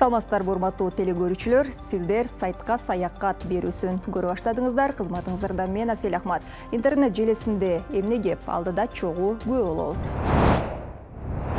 Саламатсыздарбы урматтуу телекөрүүчүлөр, сиздер сайтка саякат берүүсүн көрүп баштадыңыздар. Кызматыңыздарда мен Асель Ахмат. Интернет желесинде эмне кеп алдыда чогуу күбө болобуз.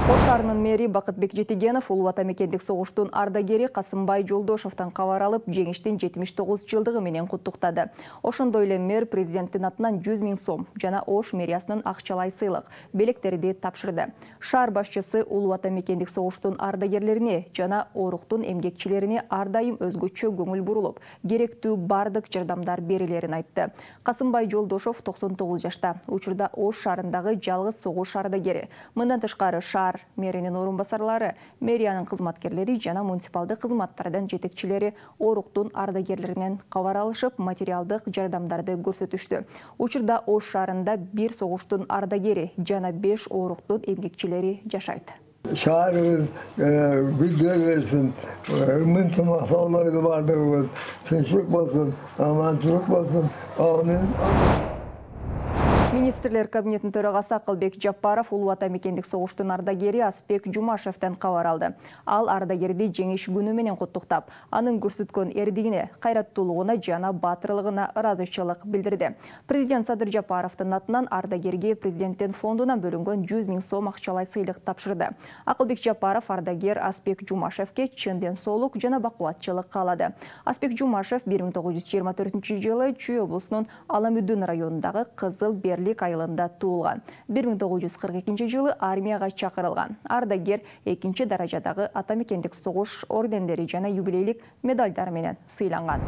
Ош шаарынын мэри Бакытбек Жетигенов улуу ата мекендик согуштун ардагери Касымбай Жолдошовдон кабар алып, жеңиштин 79 жылдыгы менен куттуктады. Ошондой эле мэр президенттин атынан 100 000 сом жана Ош мэриясынын акчалай сыйлык белектерди тапшырды. Шаар башчысы улуу ата мекендик согуштун ардагерлерине жана оруктун эмгекчилерине ар дайым өзгөчө көңүл бурулуп, керектүү бардык жардамдар берилерин айтты. Касымбай Жолдошов 99 жашта, учурда Ош шаарындагы жалгыз согуш ардагери. Мындан тышкары шаар мэринин орун басарлары, мэриянын кызматкерлери жана муниципалдык кызматтардын жетекчилери оруктун ардагерлеринен кабар алышып, материалдык жардамдарды көрсөтүштү. Учурда Ош шаарында 1 согуштун ардагери жана 5 оруктун эмгекчилери жашайт. Şairimiz güzel versin, mıntıma sağlaydı bardığımız, tinçlik olsun, amançılık olsun, amin. Министрлер кабинетинин төрагасы Акылбек Жапаров улуу ата мекендик согуштун ардагери Аспек Жумашевден кабар алды. Ал ардагерди жеңиш күнү менен куттуктап, анын көрсөткөн эрдигине, кайраттуулугуна жана баатырлыгына ыраазычылык билдирди. Президент Садыр Жапаровдун атынан ардагерге президенттин фондунан бөлүнгөн 100 000 сом акчалай сыйлык тапшырды. Акылбек Жапаров ардагер Аспек Жумашевке чын ден соолук жана бакубатчылык каалады. Аспек Жумашев 1924-жылы Чүй облусунун Аламүдүн районундагы Кызыл Берлик айылында туулган. 1942-жылы армияга чакырылган. Ардагер 2-чи даражадагы ата мекендик согуш ордендери жана юбилейлик медальдар менен сыйланган.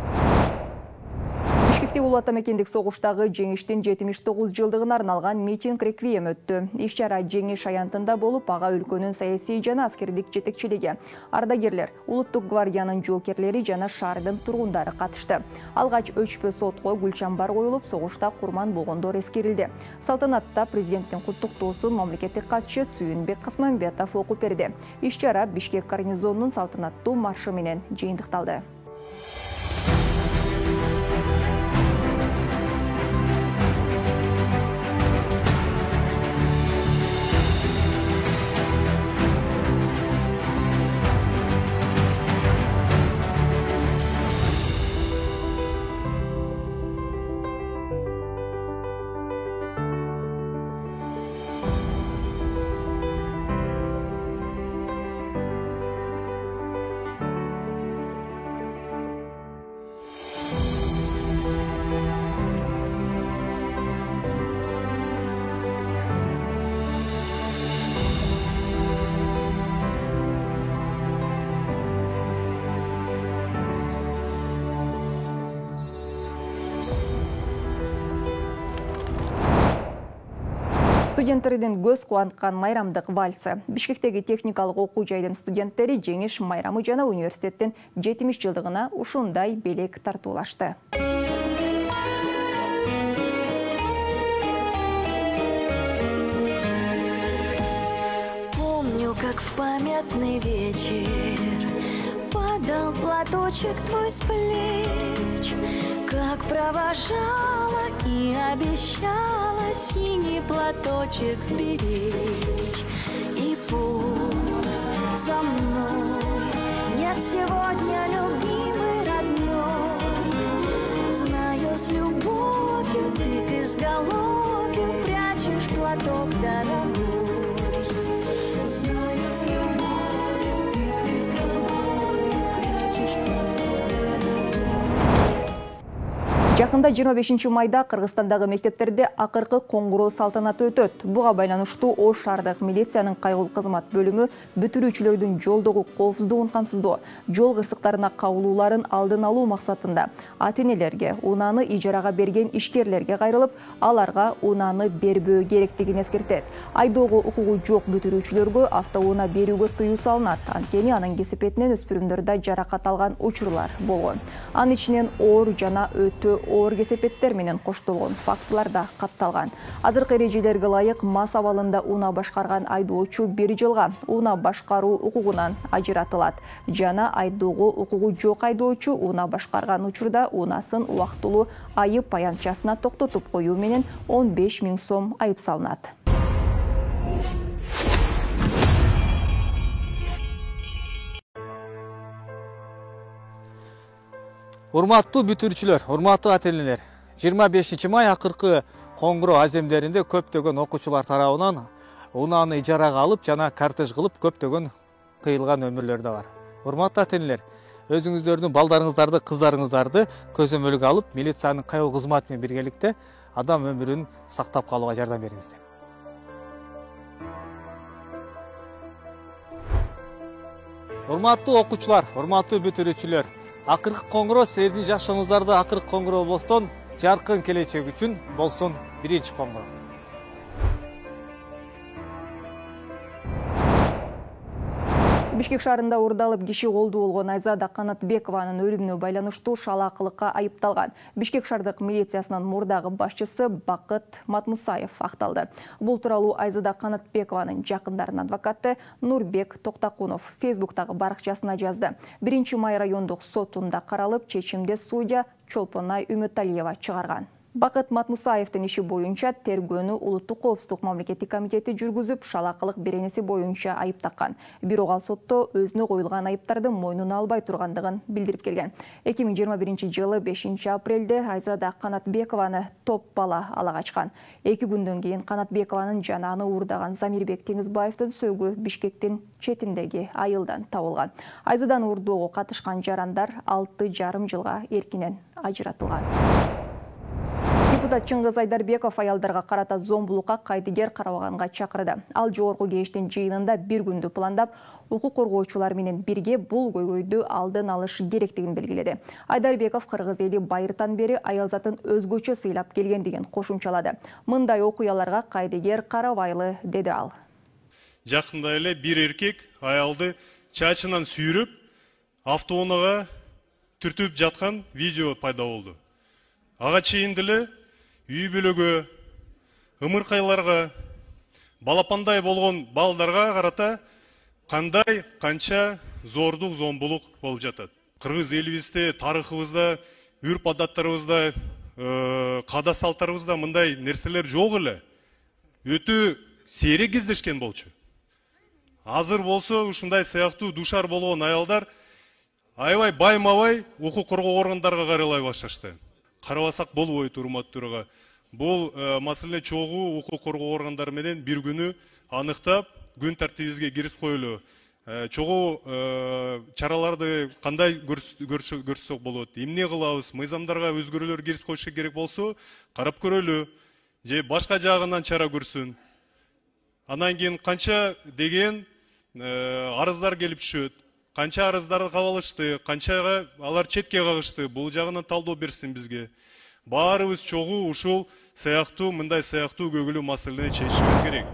Бишкекте улуу ата мекендик согуштагы жеңиштин 79 жылдыгына арналган митинг реквием өттү. Иш-чара жеңиш аянтында болуп, ага өлкөнүн саясий жана аскердик жетекчилиги, ардагерлер, улуттук гвардиянын жоокерлери жана шаардын тургундары катышты. Алгач өчпө сотко гүл чамбар коюлуп, согушта курман болгондор эскерилди. Салтанатта президенттин куттуктоосун мамлекеттик катчы Сүйүнбек Касмамбетов окуп берди. Иш-чара Бишкек гарнизонунун салтанаттуу маршы менен жыйынтыкталды. Студенттердин көз кубанткан майрамдык вальсы. Бишкектеги техникалык окуу жайдын студенттери жеңиш майрамы жана университеттин 70 жылдыгына ушундай белек тартуулашты. Помню, как в памятный вечер падал платочек твой с плеч, как провожала и обещала синий платочек сберечь. И пусть со мной нет сегодня любимой родной, знаю, с любовью ты к изголовью прячешь платок дорогой. Знаю, с любовью ты к изголовью прячешь платок дорогой. Жакында 25 майда Кыргызстандагы мектептерде акыркы коңгуроо салтанаты өтөт. Буга байланыштуу Ош шаардык милициянын кайгылуу кызмат бөлүмү бүтүрүүчүлөрдүн жолдогу коопсуздугун камсыздоо, жол кырсыктарына кабылууларын алдын алуу максатында ата-энелерге, унааны ижарага берген ишкерлерге кайрылып, аларга унааны бербөө керектигин эскертет. Айдоого укугу жок бүтүрүүчүлөргө автоунаа берүүгө тыюу салынат. Анткени анын кесепетинен өспүрүмдөрдө жаракат алган учурлар болгон. Анын ичинен оор жана өтө оор кесепеттер менен коштолгон фактылар да катталган. Азыркы эрежелерге ылайык мас абалында унаа башкарган айдоочу 1 жылга унаа башкаруу укугунан ажыратылат жана айдоого укугу жок айдоочу унаа башкарган учурда унаасын убактылуу айып аянтчасына токтотуп коюу менен 15 000 сом айып салынат. Урматтуу бүтүрүүчүлөр, урматтуу ата-энелер, 25 май акыркы Коңгуроо аземдеринде көптөгөн окуучулар тарабынан унааны ижарага алып жана кортеж кылып көптөгөн кыйылган өмүрлөр да бар. Урматтуу ата-энелер, өзүңүздөрдүн балдарыңыздарды, кыздарыңыздарды көзөмөлгө алып, милициянын кайыл кызматы менен биргеликте адам өмүрүн сактап калууга жардам бериңиздер. Урматтуу окуучулар, урматтуу бүтүрүүчүлөр, акыркы Коңгуроо силердин жашооңуздарды акыркы Коңгуроо облустун жаркын келечеги үчүн болсун биринчи Коңгуроо. Бишкек шаарында уурдалып киши колдуу болгон Айзада Канатбекованын өлүмүнө байланыштуу шалаакылыкка айыпталган Бишкек шаардык милициясынын мурдагы башчысы Бакыт Матмусаев акталды. Бул тууралуу Айзада Канатбекованын жакындарынын адвокаты Нурбек Токтакунов Фейсбуктагы баракчасына жазды. 1 май райондук сотунда каралып, чечимди судья Чолпонай Үмөталиева чыгарган. Бакыт Матмусаевдин иши боюнча тергөөнү Улуттук коопсуздук мамлекеттик комитети жүргүзүп, шалаакылык беренеси боюнча айып таккан. Бирок ал сотто өзүнө коюлган айыптарды мойнуна албай тургандыгын билдирип келген. 2021 жылы 5 апрелде Айзада Канатбекованы топ бала ала качкан. 2 күндөн кийин Канатбекованын жана аны уурдаган Замирбек Теңизбаевдин сөөгү Бишкектин четиндеги айылдан табылган. Айзаданы уурдоого катышкан жарандар 6,5 жылга эркинен ажыратылган. Депутат Чыңгыз Айдарбеков аялдарга карата зомбулукка кайдыгер карабаганга чакырды. Ал жогорку кеңештин жыйынында 1 күндү пландап, укук коргоочулар менен бирге бул көйгөйдү алдын алыш керектигин белгиледи. Айдарбеков кыргыз эли байыртан бери аялзатын өзгөчө сыйлап келгендигин кошумчалады. Мындай окуяларга кайдыгер карабайлы, деди ал. Жакында эле бир эркек аялды чачынан сүйрөп, автоунаага түртүп жаткан видео пайда болду. Ага чейин деле үй бүлөгө, ымыркайларга, балапандай болгон балдарга карата кандай канча зордук, зомбулук болуп жатат. Кыргыз элибизде, тарыхыбызда, үрп адаттарыбызда, каада салттарыбызда мындай нерселер жок эле. Өтө сейрек кездешкен болчу. Азыр болсо ушундай сыяктуу душар болгон аялдар аябай байма-бай укук коргоо органдарга каралай башташты. Карабасак болбойт, урматтууга. Бул маселе чогуу укук коргоо органдары менен бир күнү аныктап, күн тартибибизге кирип коелу. Чогуу чараларды кандай көрсөк болот? Эмне кылабыз? Мыйзамдарга өзгөрүүлөр кирип коюш керек болсо, карап көрөлү. Же башка жагынан чара көрсүн. Андан кийин канча деген арыздар келип түшөт. Канча арыздарды кабыл алышты, канчага алар четке кагышты, бул жагынан талдоо берсин бизге. Баарыбыз чогуу ушул мындай сыяктуу көйгөйлүү маселени чечишибиз керек.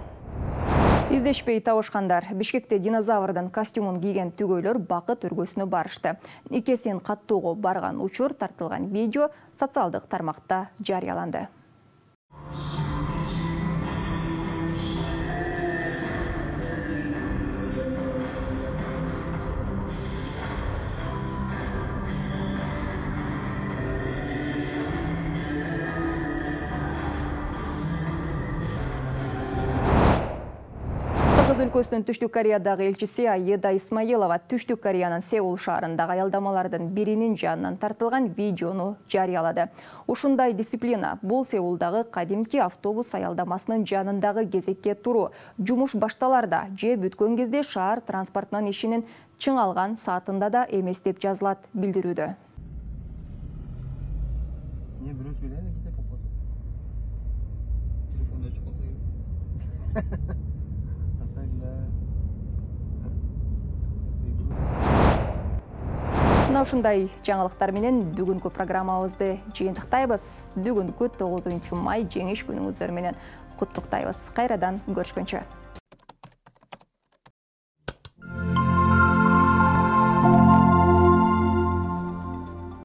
Издешпей табышкандар. Бишкекте динозаврдын костюмун кийген түгөйлөр бакыт өргөсүнө барышты. Икесин каттоого барган учур тартылган видео социалдык тармакта жарыяланды. Кыргыз өлкөсүнүн Түштүк Кореядагы элчиси Аида Исмаилова Түштүк Кореянын Сеул шаарындагы аялдамалардын биринин жанынан тартылган видеону жарыялады. Ушундай дисциплина бул Сеулдагы кадимки автобус аялдамасынын жанындагы кезекке туруу, жумуш башталарда же бүткөн кезде шаар транспортунун ишинин чыңалган саатында да эмес деп жазылат билдирүүдө. Мына ушундай жаңылыктар менен бүгүнкү программабызды жыйынтыктайбыз. Бүгүнкү 9 май жеңиш күнүңүздөр менен куттуктайбыз. Кайрадан көрүшкөнчө.